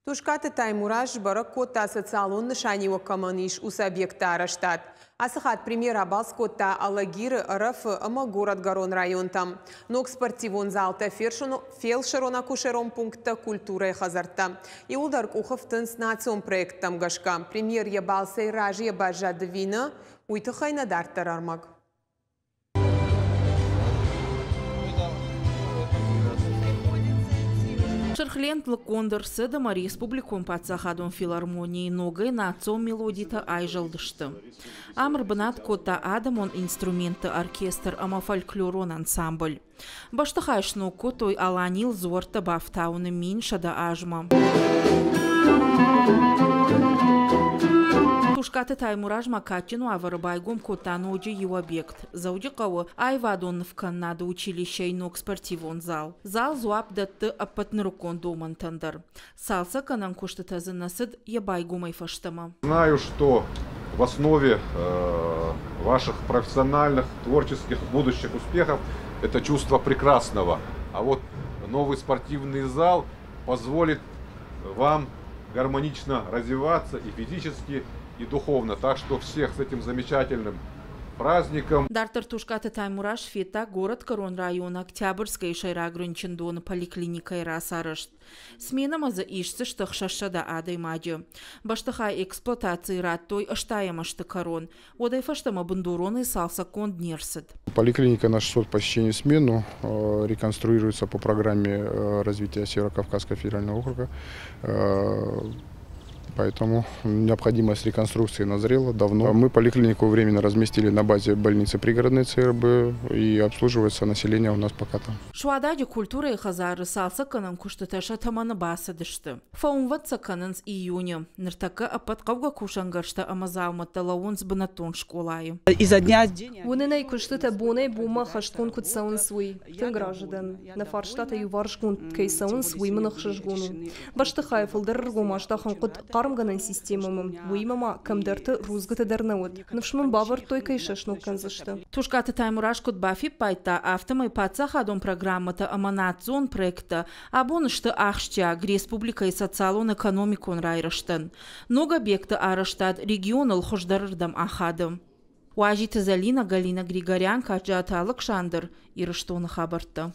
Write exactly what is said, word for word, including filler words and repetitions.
Тускъаты Таймураз сбӕрӕг кодта, социалон нысаниуӕг кӕмӕн ис, уыцы объектты арӕзтад. Ацы хатт премьер абалц кодта Алагиры, Ӕрӕфы ӕмӕ Горӕтгӕрон районтӕм. Ног спортивон залтӕ, фелсырон-акушерон пункттӕ, культурӕйы хӕдзӕрттӕ. Иууылдӕр къухы фтынц национ проекттӕм гӕсгӕ. Премьер йӕ балцӕй разыйӕ баззад ӕви нӕ, уый тыххӕй нӕ дарддӕр ӕрмӕг. Сырх лент лыггонд ӕрцыд ӕмӕ республикон паддзахадон филармонийы ногӕй национ мелодитӕ айзӕлдысты. Ам ӕрбынат кодта адӕмон инструментты оркестр ӕмӕ фольклорон ансамбль. Бӕстыхай сног кодтой Аланийыл дзуӕрттӕ бафтауыны мин сӕдӕ азмӕ. Тускъаты Таймураз ма кадджын уавӕры байгом кодта ноджы иу объект – Дзӕуджыхъӕуы аивадон нывкӕнынады училищӕйы ног спортивон зал. Зал дзуапп дӕтты ӕппӕт нырыккон домӕнтӕн дӕр. Цалцӕггӕнӕн куыстытӕ дзы нӕ цыд йӕ байгомӕй фӕстӕмӕ. Знаю, что в основе э, ваших профессиональных, творческих, будущих успехов это чувство прекрасного. А вот новый спортивный зал позволит вам гармонично развиваться и физически, и духовно. Так что всех с этим замечательным праздником. Дарддӕр Тускъаты Таймураз федта Горӕтгӕрон районы Октябрьскӕйы сӕйраг рынчындоны поликлиникӕйы рацарӕзт. Сменӕмӕ дзы исдзысты ӕхсӕзсӕдӕ адӕймаджы. Бӕстыхай эксплуатацийы радтой ӕстайӕм азты кӕрон. Уӕдӕй фӕстӕмӕ бындуронӕй цалцӕггонд не рцыд. Поликлиника на шестьсот посещений в смену э, реконструируется по программе э, развития Северо-Кавказского федерального округа. Э, Поэтому необходимость реконструкции назрела давно. Мы поликлинику временно разместили на базе больницы пригородной Ц Р Б, и обслуживается население у нас пока там. Суададжы культурӕйы хӕдзары цалцӕггӕнӕн куыстытӕ сӕ тӕмӕны бацыдысты. Фӕуынвӕнд сӕ кӕнынц июны. Ныртӕккӕ ӕппӕт хъӕугӕ кусӕнгӕрзтӕ ӕмӕ дзаумӕттӕ лӕууынц бынӕттон скъолайы. Изо дня в день. Уынын ӕй, куыстытӕ бонӕй-бонмӕ ӕххӕстгонд куыд цӕуынц, уый. Тынг разы дӕн. Нӕ фарстатӕ иуварсгонд кӕй цӕуынц, уый мын ӕхсызгон у. Бӕстыхайы фылдӕр ӕргом аздахын хъуыд хъармгӕнӕн системӕмӕ, уыимӕ ма кӕмдӕрты рудзгуытӕ дӕр нӕ уыд. Ныфс мын бавӕрдтой, кӕй сӕ сног кӕндзысты. Тускъаты Таймураз куыд бафиппайдта, афтӕмӕй паддзахадон программӕтӕ ӕмӕ национ проекттӕ абон сты ахсджиаг республикӕйы социалон-экономикон райрӕзтӕн. Ног объекты арӕзтад регионыл хуыздӕрырдӕм ахады. Уазиты Зӕлинӕ, Галина Григорян, Каджаты Алыксандр, Ирыстоны хабӕрттӕ.